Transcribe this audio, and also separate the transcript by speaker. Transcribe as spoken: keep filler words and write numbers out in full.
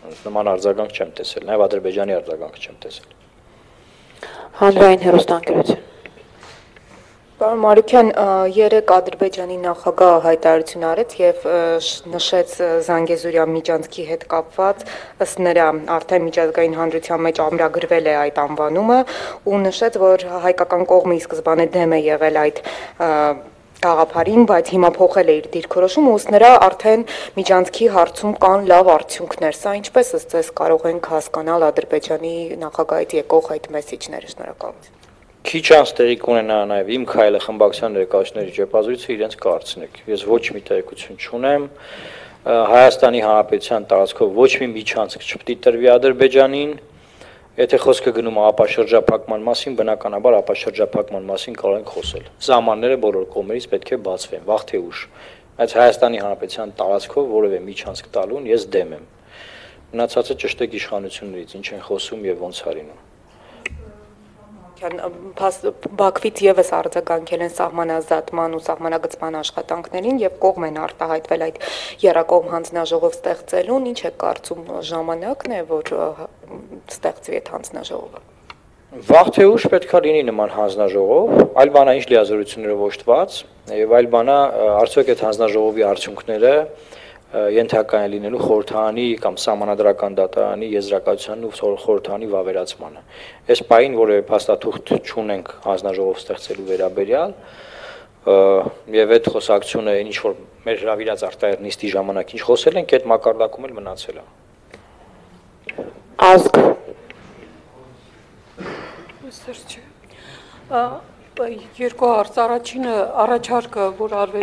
Speaker 1: նման արձագանք չեմ տեսել, նաև Ադրբեջանի արձագանք չեմ տեսել։
Speaker 2: Հանրային հեռուստաընկերություն։
Speaker 3: Պարոն Մարուքյան, երեկ Ադրբեջանի նախագահը հայտարարություն արեց եւ նշեց Զանգեզուրյան միջանցքի հետ կապված, ըստ նրա արդեն միջազգային հանրության մեջ ամրագրվել է այդ անվանումը ու նշեց, որ հայկական կողմը ի սկզբանե դեմ է եղել այդ գաղափարին, բայց հիմա փոխել է իր դիրքորոշումը, ըստ նրա արդեն միջանցքի հարցում կան լավ արդյունքներ։ Սա ինչպես ըստ ձեզ կարող ենք հասկանալ Ադրբեջանի նախագահից եկող այդ մեսիջները։ Շնորհակալություն։
Speaker 1: Քիչ անց տեղի կունենա նաև իմ քայլը խմբակցության ներկայացուցիչների ճեպազույցը, իրենց կարծնեք։ Ես ոչ մի տեղեկություն չունեմ, Հայաստանի Հանրապետության տարածքով ոչ մի միջանցք չպետք է տրվի Ադրբեջանին, եթե խոսքը գնում է ապաշրջափակման մասին, բնականաբար ապաշրջափակման մասին կարող ենք խոսել։ Սահմանները բոլոր կողմերից պետք է բացվեն, վաղ թե ուշ, բայց Հայաստանի Հանրապետության տարածքով որևէ միջանցք տալուն ես դեմ եմ։ Մնացածը ճշտեք իշխանություններից, ինչ են խոսում եւ ոնց արինում։
Speaker 3: Բաքվից եւս արձագանքել են սահմանազատման ու սահմանագծման աշխատանքներին եւ կողմ են արտահայտվել այդ երակողմ հանձնաժողով ստեղծելուն, ինչ է կարծում ժամանակն է, որ ստեղծվի այդ հանձնաժողովը։
Speaker 1: Վաղ թե ուշ պետք է լինի նման հանձնաժողով, այլ բան է ինչ լիազորություններով օժտված եւ այլ բան է արդյոք այդ հանձնաժողովի արդյունքները ենթակա են լինելու խորհրդարանի կամ սահմանադրական դատարանի եզրակացության ու խորհրդարանի վավերացմանը։ Այս պահին որևէ փաստաթուղթ չունենք հանձնաժողով ստեղծելու վերաբերյալ եւ այդ խոսակցությունը ինչ որ մեր հրավիրած արտահայտ նիստի ժամանակ ինչ խոսել ենք, այդ մակարդակում էլ մնացել է։
Speaker 2: Ազգ
Speaker 4: Երկու հարց, առաջինը առաջարկը, որ արվեց